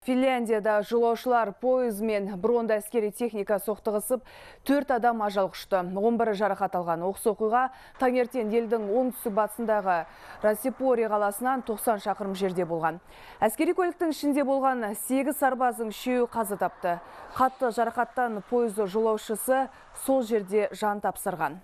Финляндияда жолаушылар пойызымен бронды әскери техника соқтығысып, 4 адам ажал құшты. 11 жарақат алған. Оқыс оқиға таңертең елдің оңтүстік батысындағы Расипори қаласынан 90 шақырым жерде болған. Әскери көліктің ішінде болған 8 сарбаздың 3-і қаза тапты. Қатты жарақаттан пойыз жолаушысы сол жерде жан тапсырған.